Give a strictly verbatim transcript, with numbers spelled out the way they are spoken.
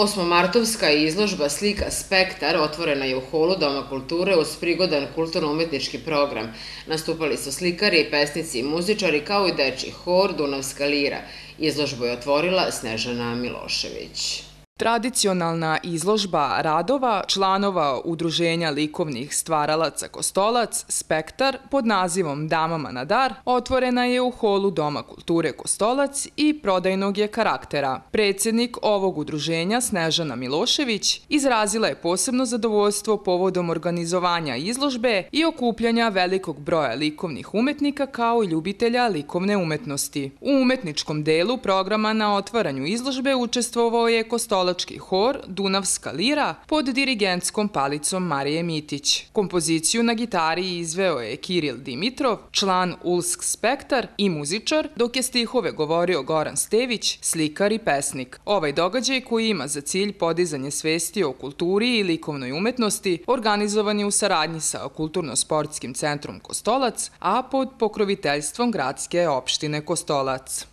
Osmomartovska izložba slika Spektar otvorena je u holu Doma kulture uz prigodan kulturno-umetnički program. Nastupali su slikari, pesnici i muzičari kao i dečji hor Dunavska lira. Izložbu je otvorila Snežana Milošević. Tradicionalna izložba radova članova Udruženja likovnih stvaralaca Kostolac Spektar pod nazivom Damama na dar otvorena je u holu Doma kulture Kostolac i prodajnog je karaktera. Predsjednik ovog udruženja Snežana Milošević izrazila je posebno zadovoljstvo povodom organizovanja izložbe i okupljanja velikog broja likovnih umetnika kao i ljubitelja likovne umetnosti. U umetničkom delu programa na otvaranju izložbe učestvovao je Kostolac hor Dunavska lira pod dirigentskom palicom Marije Mitić. Kompoziciju na gitari izveo je Kiril Dimitrov, član Ulsk Spektar i muzičar, dok je stihove govorio Goran Stević, slikar i pesnik. Ovaj događaj koji ima za cilj podizanje svesti o kulturi i likovnoj umetnosti organizovan je u saradnji sa Kulturno-sportskim centrom Kostolac, a pod pokroviteljstvom gradske opštine Kostolac.